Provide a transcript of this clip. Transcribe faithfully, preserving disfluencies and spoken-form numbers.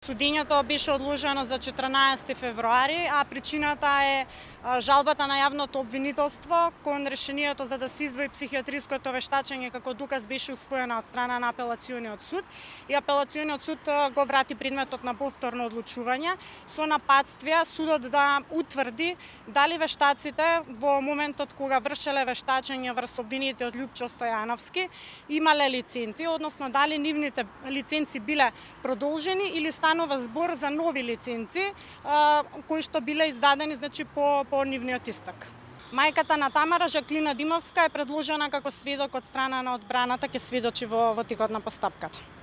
Судењето беше одложено за четрнаесети февруари, а причината е жалбата на јавното обвинителство кон решението за да се издвои психијатриското вештачење како доказ беше усвоена од страна на апелациониот суд и апелациониот суд го врати предметот на повторно одлучување со напатствија судот да утврди дали вештаците во моментот кога вршеле вештачење врз обвинетиот Љупчо Стојановски имале лиценци, односно дали нивните лиценци биле продолжени или станува збор за нови лиценци кои што биле издадени значи по по нивниот истек. Мајката на Тамара, Жаклина Димовска, е предложена како сведок од страна на одбраната, ќе сведочи во, во текот на постапката.